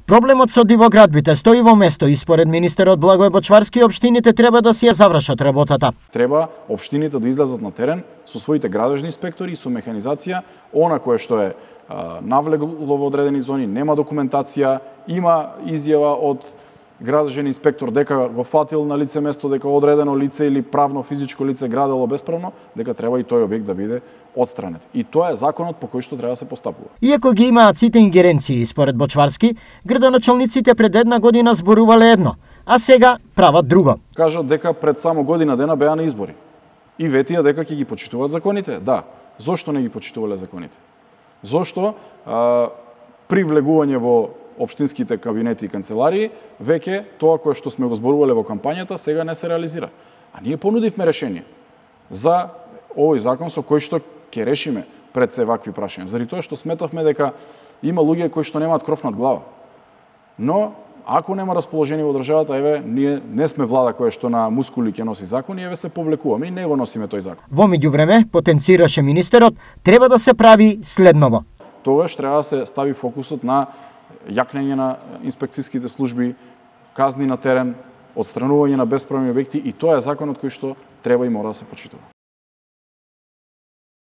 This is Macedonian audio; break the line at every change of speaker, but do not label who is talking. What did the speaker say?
Проблемот со дивоградбите стои во место и според министерот Благој Бочварски општините треба да си ја завршат работата.
Треба општините да излезат на терен со своите градежни инспектори и со механизација, она кое што е навлегло во одредени зони, нема документација, има изјава од градежен инспектор дека го фатил на лице место, дека одредено лице или правно физичко лице градело бесправно, дека треба и тој објект да биде отстранет. И тоа е законот по кој што треба да се постапува.
Иако ги имаат сите ингеренции, според Бочварски, градоначалниците пред една година зборувале едно, а сега прават друго.
Кажат дека пред само година дена беа на избори. И ветија дека ќе ги почитуваат законите. Да, зошто не ги почитувале законите? Зошто при влегување во општинските кабинети и канцеларии, веќе тоа кое што сме го зборувале во кампањата, сега не се реализира. А ние понудивме решение за овој закон со кој што ќе решиме пред се вакви прашања. Заради тоа што сметавме дека има луѓе кои што немаат кров над глава. Но ако нема расположение во државата, еве, ние не сме влада која што на мускули ќе носи закони, еве се повлекуваме и не го носиме тој закон.
Во меѓувреме, потенцираше министерот, треба да се прави следново.
Тогаш треба да се стави фокусот на јакнење на инспекцијските служби, казни на терен, отстранување на бесправни објекти и тоа е законот кој што треба и мора да се почитува.